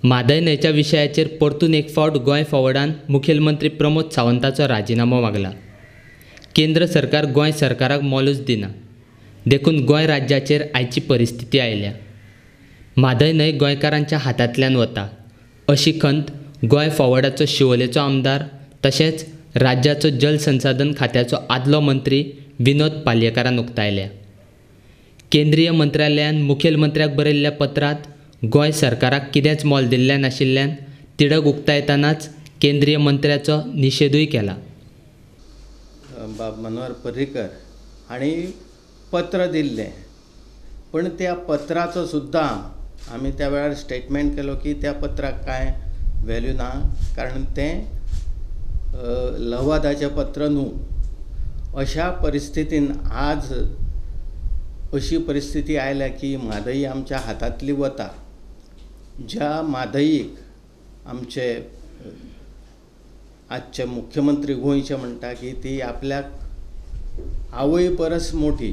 म्हादय न्हंयच्या विशयाचेर परतून एक फावट गोंय फॉवर्डान मुखेलमंत्री प्रमोद सावंताचो राजिनामो मागला. केंद्र सरकार गोंय सरकाराक मोलूच दिना, देखून गोंय राज्याचेर आयची परिस्थिती आयल्या. म्हादय न्हंय गोंयकारांच्या हातांतल्यान वता अशी खंत गोंय फॉवर्डाचो शिवोलेचो आमदार तशेंच राज्याचो जलसंसाधन खात्याचो आदलो मंत्री विनोद पालयेकारान उक्तायल्या. केंद्रीय मंत्रालयान मुखेलमंत्र्याक बरयल्ल्या पत्रांत गोंय सरकाराक कितेंच मोल दिल्लें नाशिल्ल्यान तिडक उक्तायतनाच केंद्रीय मंत्र्याचो निशेधूय केला. बाब मनोहर पर्रीकर हांणी पत्र दिल्लें, पण त्या पत्राचो सुद्दां आमी त्या वेळार स्टेटमेंट केलो की त्या पत्राक कांय व्हॅल्यू ना, कारण तें लवादाचें पत्र न्हू. अशा परिस्थितीन आज अशी परिस्थिती आयल्या की म्हादई आमच्या हातांतली वता. ज्या म्हादईक आमचे आजचे मुख्यमंत्री गोंयचे म्हणटा की ती आपल्याक आवय परस मोठी.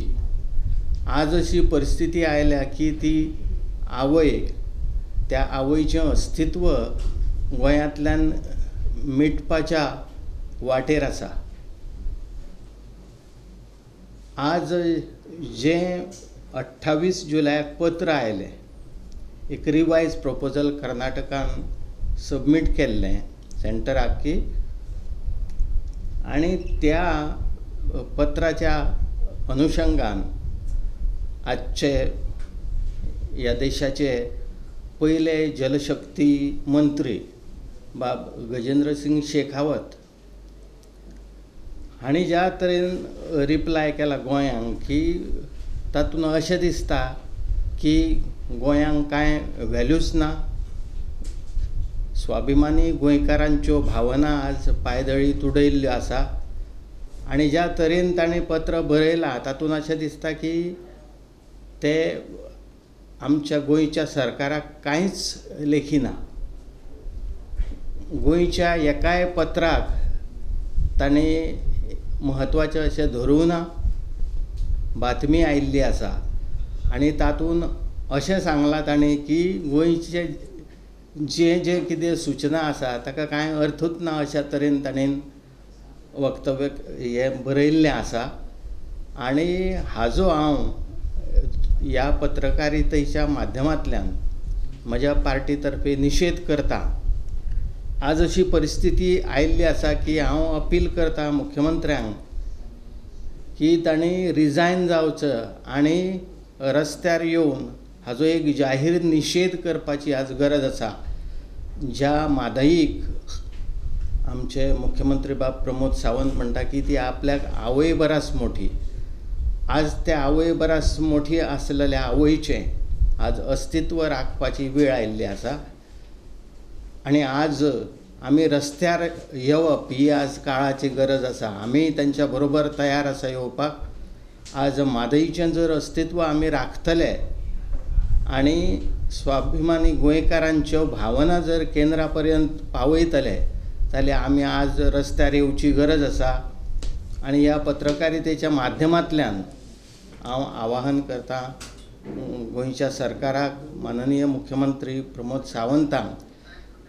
आज अशी परिस्थिती आयल्या की ती आवय, त्या आवयचें अस्तित्व गोंयांतल्यान मिटपाच्या वाटेर आसा. आज जें 28 जुलयाक पत्र आयलें, एक रिवायज प्रपोजल कर्नाटकान सबमीट केल्लें सेंटराक की, आनी त्या पत्राच्या अनुशंगान आजचे ह्या देशाचे पयले जलशक्ती मंत्री बाब गजेंद्र सिंग शेखावत हांणी ज्या तरेन रिप्लाय केला गोंयांक की तातूंत अशें दिसता की गोंयांक कांय व्हॅल्यूच ना. स्वाभिमानी गोंयकारांच्यो भावना आज पायदळी तुडयल्ल्यो आसा आनी ज्या तरेन तांणी पत्र बरयलां तातूंत अशें दिसता की ते आमच्या गोंयच्या सरकाराक कांयच लेखिना. गोंयच्या एकाय पत्राक तांणी म्हत्वाचें अशें धरूंक ना. बातमी आयिल्ली आसा आनी तातूंत अशें सांगलां तांणी की गोंयचे जे जे कितें सुचना आसा ताका कांय अर्थूच ना अशा तरेन ताणें वक्तव्य हें बरयल्लें आसा. आनी हाजो हांव ह्या पत्रकारितेच्या माध्यमांतल्यान म्हज्या पार्टी तर्फे निशेध करता. आज अशी परिस्थिती आयिल्ली आसा की हांव अपील करता मुख्यमंत्र्यांक की तांणी रिजायन जावचो आनी रस्त्यार येवन हाजो एक जाहीर निशेध करपाची आज गरज आसा. ज्या म्हादईक आमचे मुख्यमंत्री बाब प्रमोद सावंत म्हणटा की ती आपल्याक आवय बरास मोठी, आज त्या आवय बरास मोठी आसलेल्या आवयचें आज अस्तित्व राखपाची वेळ आयिल्ली आसा. आनी आज आमी रस्त्यार येवप ही आज काळाची गरज आसा. आमी तांच्या बरोबर तयार आसा येवपाक. आज म्हादईचें जर अस्तित्व आमी राखतले आनी स्वाभिमानी गोंयकारांच्यो भावना जर केंद्रा पर्यंत पावयतले जाल्यार आमी आज रस्त्यार येवची गरज आसा. आनी ह्या पत्रकारितेच्या माध्यमांतल्यान हांव आवाहन करता गोंयच्या सरकाराक, माननीय मुख्यमंत्री प्रमोद सावंतांक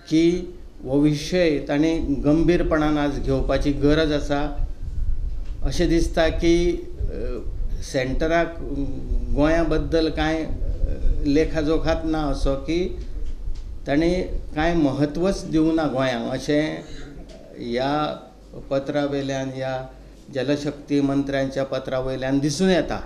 की हो विशय तांणी गंभीरपणान आज घेवपाची गरज आसा. अशें दिसता की सेंटराक गोंया बद्दल कांय लेखाजोखात ना असो की तांणी कांय म्हत्वच दिवंक ना गोंयांक, अशें ह्या पत्रा वयल्यान, ह्या जलशक्ती मंत्र्यांच्या पत्रा वयल्यान दिसून येता.